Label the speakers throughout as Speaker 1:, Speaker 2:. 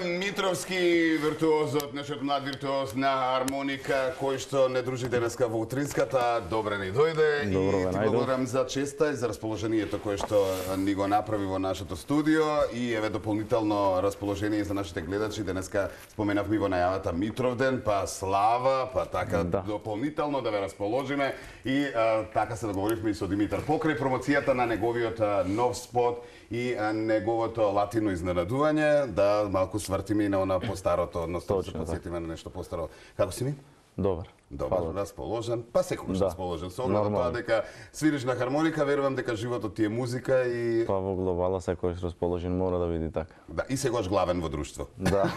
Speaker 1: Митровски виртуозот, нашиот млад виртуоз на хармоника, кој што не дружи денеска во утринската, добре ни дојде и ти благодарам за честа и за расположението кое што ни го направи во нашето студио и еве дополнително расположение за нашите гледачи. Денеска споменавме во најавата Митровден, па слава, па така дополнително да ве расположиме и така се договоривме и со Димитар покрај промоцијата на неговиот нов спот и неговото латино изненадување, да малку свртиме и на она постарото, односно се подсетиме на нешто постаро. Како си ми?
Speaker 2: Добар.
Speaker 1: Добар, расположен, па секогаш расположен. Со оглед на тоа дека свириш на хармоника, верувам дека животот ти е музика и
Speaker 2: па во глобала секогаш расположен мора да биде така.
Speaker 1: Да, и секогаш главен во друштво.
Speaker 2: Да.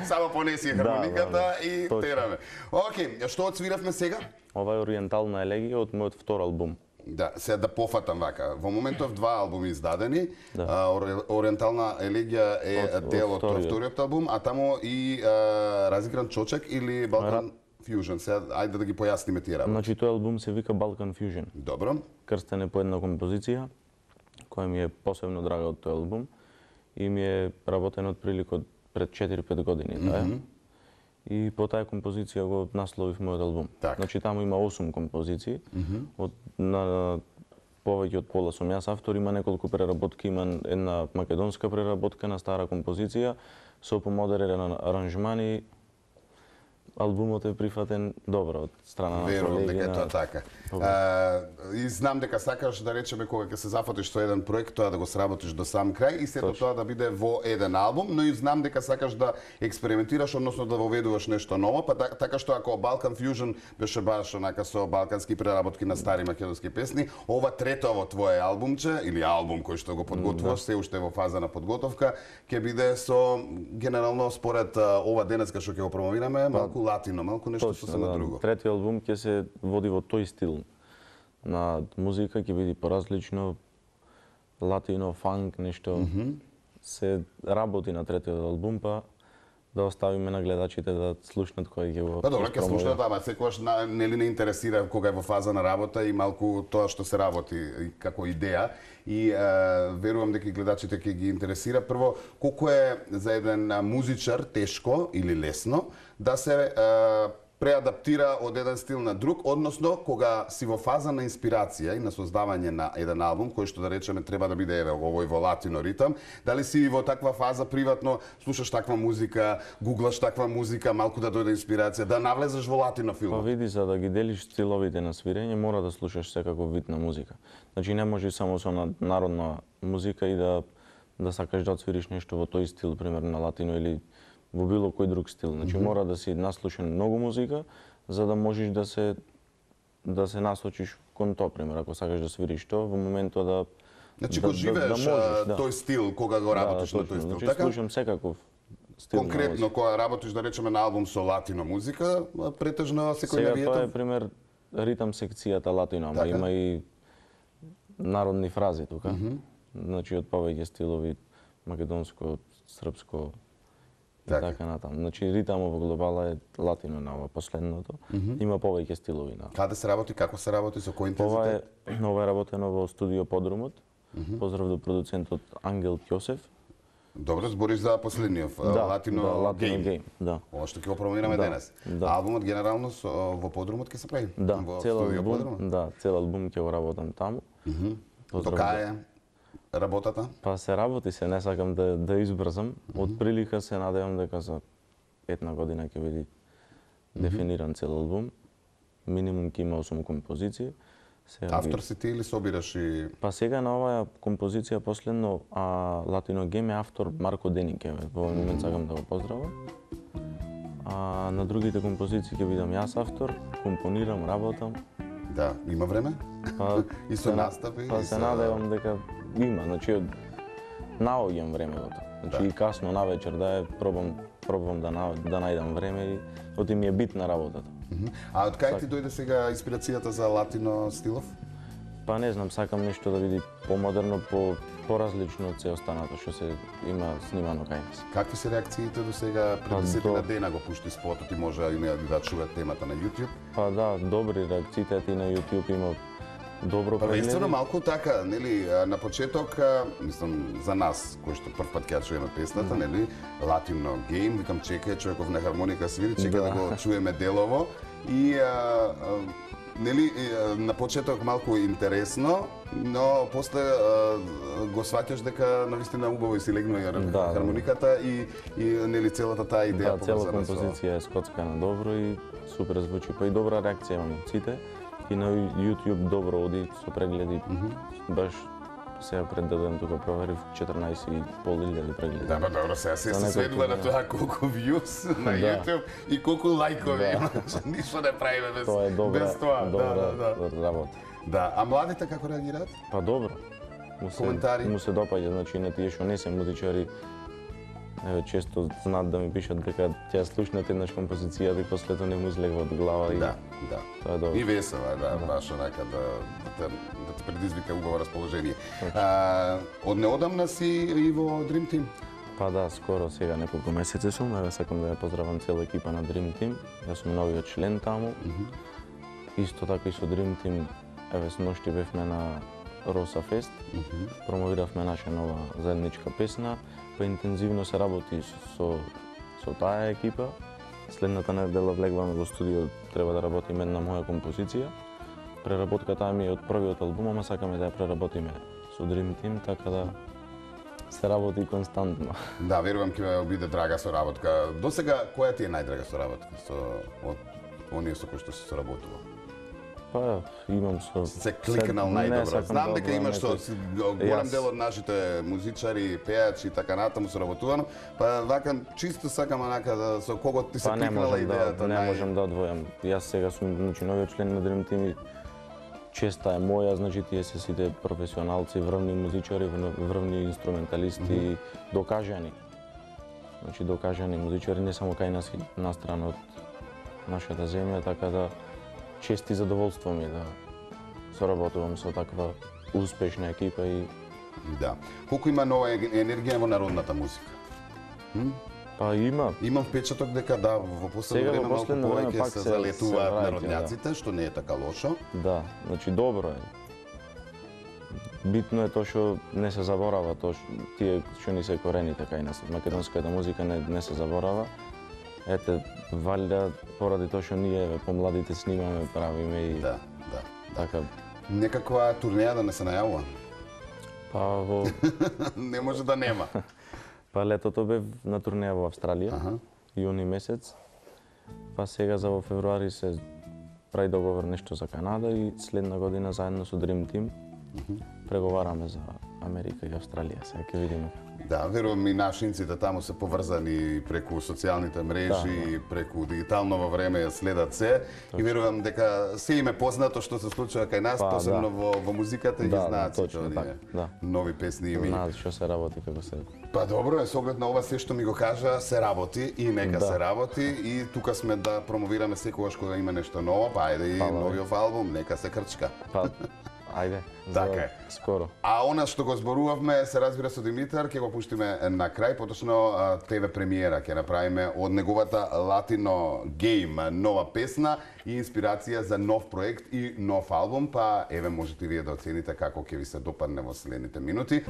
Speaker 1: Само понеси хармониката и тераме. Океј, што отсвиравме сега?
Speaker 2: Ова е ориентална елегија од мојот втор албум.
Speaker 1: Да, сега да пофатам вака. Во моментов два албуми издадени. Ориентална елегија е дел од вториот албум, а тамо и Разигран чочек или Балкан Fusion. Сега ајде да ги појасниме тие работи.
Speaker 2: Значи тој албум се вика Balkan Fusion.
Speaker 1: Добро.
Speaker 2: Крстен е по една композиција која ми е посебно драга од тој албум и ми е работен отприлика пред 4-5 години, И по таа композиција го насловив мојот албум. Значи таму има 8 композиции, на повеќе од пола сум јас автор, има неколку преработки, има една македонска преработка на стара композиција со помодерен аранжман и албумот е прифатен добро од страна на колеги.
Speaker 1: Верувам дека тоа така. И знам дека сакаш да речеме кога ќе се зафатиш со еден проект, тоа да го сработиш до сам крај и сето тоа да биде во еден албум, но и знам дека сакаш да експериментираш, односно да воведуваш нешто ново, па така што ако Balkan Fusion беше баш онака со балкански преработки на стари македонски песни, ова третово твое албумче или албум кој што го подготвуваш, се уште во фаза на подготовка, ќе биде со генерално според ова денеска што ќе го промовираме, малку латино, малку нешто сосема друго.
Speaker 2: Третиот албум ќе се води во тој стил на музика, ќе биде поразлично, латино, фанк, нешто. Се работи на третиот албум, па да оставиме на гледачите да слушнат кој ќе го.
Speaker 1: Па добро, ќе слушнат, ама секогаш нели не интересира кога е во фаза на работа и малку тоа што се работи како идеја и верувам дека гледачите ќе ги интересира. Прво, колку е за еден музичар тешко или лесно да се преадаптира од еден стил на друг, односно кога си во фаза на инспирација и на создавање на еден албум, кој што да речеме треба да биде еве овој во латино ритам, дали си во таква фаза приватно слушаш таква музика, гуглаш таква музика, малку да дојде инспирација, да навлезеш во латино филм?
Speaker 2: Па види, за да ги делиш стиловите на свирење, мора да слушаш секаков вид на музика. Значи не може само со народна музика и да сакаш да отсвириш нешто во тој стил, примерно на латино или во било кој друг стил. Значи мора да си наслушан многу музика за да можеш да се насочиш кон тоа, пример, ако сакаш да свириш тоа, во моментот да
Speaker 1: значи го живееш тој стил кога го работиш на тој стил,
Speaker 2: така? Слушам секаков стил.
Speaker 1: Конкретно кога работиш да речеме на албум со латино музика, претежно секојдневието.
Speaker 2: Сега тоа е пример ритам секцијата латино, ама има и народни фрази тука. Значи од повеќе стилови македонско, српско, така натаму. Значи ритамот во глобала е латино на ова последното. Има повеќе стилови на.
Speaker 1: Каде се работи, како се работи, со кој интензитет?
Speaker 2: Ова е работено во студио Подрумот. Поздрав до продуцентот Ангел Ќосев.
Speaker 1: Добро, збориш за последниот латино гейм.
Speaker 2: Да.
Speaker 1: Ова што ќе го промовираме денес. Албумот генерално во Подрумот ќе се прави?
Speaker 2: Да, цел албум ќе го работам таму.
Speaker 1: До кај е работата?
Speaker 2: Па се работи, не сакам да избрзам. Од прилика се надевам дека за една година ќе биде дефиниран цел албум. Минимум ќе има 8 композиции.
Speaker 1: Автор си ти или собираш и...
Speaker 2: Па сега на оваа композиција последно Latino Game е автор Марко Денике. Во овој момент сакам да го поздравам. А на другите композиции ќе бидам јас автор, компонирам, работам.
Speaker 1: Да, има време?
Speaker 2: Па,
Speaker 1: И со настави?
Speaker 2: Па се надевам дека има, значи наоѓам време во тоа. Значи и касно навечер да пробам да најдам време и оти ми е битна работата.
Speaker 1: А од кај ти дојде сега инспирацијата за латино стилов?
Speaker 2: Па не знам, сакам нешто да биде помодерно, поразлично од се останато што се има снимано кај нас.
Speaker 1: Какви се реакциите до сега? Пред 10 дена го пушти спотот и може да чуат темата на YouTube.
Speaker 2: Па да, добри реакциите и на YouTube има добро прегледи.
Speaker 1: Единствено малку така, нели, на почеток, мислам за нас кои што прв пат ќе чуеме песната, нели, Latino Game, викам чекај човеков на хармоника свири, чека да го чуеме делово и нели, на почеток малку интересно, но после го сваќаш дека навистина убаво и си легнува хармониката и нели целата таа идеја
Speaker 2: поврзана со... Да, цела композиција е скоцкана добро и супер звучи, па и добра реакција имаме од сите. И на YouTube добро оди со прегледи. Баш сега пред да дадем тука проверив 14.500 прегледи.
Speaker 1: Да, па добро, сега се сведува на тоа колку views на YouTube и колку лајкови има. Ништо не правиме без тоа.
Speaker 2: Добра работа.
Speaker 1: Да, а младите како реагираат?
Speaker 2: Па добро.
Speaker 1: Коментари?
Speaker 2: Му се допаѓа, значи на тие што не се музичари, често знаат да ми пишат дека ќе слушнат еднаш композицијата и после тоа не му излегува од глава и
Speaker 1: да.
Speaker 2: Тоа е добро.
Speaker 1: И весела, баш онака да ти предизвика убаво расположение. Од неодамна си и во Dream Team?
Speaker 2: Па да, скоро сега неколку месеци сум, сакам да ја поздравам цела екипа на Dream Team. Јас сум новиот член таму. Исто така и со Dream Team, сношти бевме на Роса Фест, промовиравме наша нова заедничка песна, па интензивно се работи со таа екипа. Следната недела влегваме во студио, треба да работиме една моја композиција. Преработката ми е од првиот албум, ама сакаме да ја преработиме со Dream Team, така да се работи константно.
Speaker 1: Да, верувам ќе биде драга соработка. До сега, која ти е најдрага соработка од оние со кои што се соработува?
Speaker 2: Па, имам со...
Speaker 1: Се кликнал најдобро. Знам дека имаш со голем дел од нашите музичари, пејачи и така натаму соработувано, па вака чисто сакам онака да со кого ти се кликнала идејата.
Speaker 2: Не можам да одвојам. Јас сега сум новиот член на Dream Team и честа е моја, значи тие се сите професионалци, врвни музичари, врвни инструменталисти, докажани. Значи докажани музичари не само кај нас, настрана од нашата земја, така да чест и задоволство ми да соработувам со таква успешна екипа и...
Speaker 1: Да. Колку има нова енергија во народната музика?
Speaker 2: Па има.
Speaker 1: Имам впечаток дека да, во последно време малку повеќе се залетуваат народњаците, што не е така лошо.
Speaker 2: Да, значи добро е. Битно е тоа што не се заборава, тие што ни се корените кај нас. Македонската музика не се заборава. Ете, валјда поради тоа што ние помладите снимаме, правиме и...
Speaker 1: Да.
Speaker 2: Така.
Speaker 1: Некаква турнеја да не се најавува?
Speaker 2: Па во...
Speaker 1: Не може да нема.
Speaker 2: Па летото бев на турнеја во Австралија, јуни месец. Па сега за во февруари се прави договор нешто за Канада и следна година заедно со Dream Team преговараме за Америка и Австралија. Сега ќе видиме.
Speaker 1: Да, верувам и нашинците таму се поврзани преку социјалните мрежи, преку дигитално време следат се. И верувам дека се им е познато што се случува кај нас, посебно во музиката и знаат сите оние нови песни и
Speaker 2: знаат што се работи, како се...
Speaker 1: Па добро е, со оглед на ова се што ми го кажа, се работи и нека се работи и тука сме да промовираме секогаш кога има нешто ново, па ајде и новиот албум, нека се крчка.
Speaker 2: Ајде,
Speaker 1: така е.
Speaker 2: Скоро.
Speaker 1: А она што го зборувавме, се разбира со Димитар, ќе го пуштиме на крај, поточно ТВ премиера ќе направиме од неговата Latino Game, нова песна и инспирација за нов проект и нов албум, па еве можете вие да оцените како ќе ви се допадне во следните минути.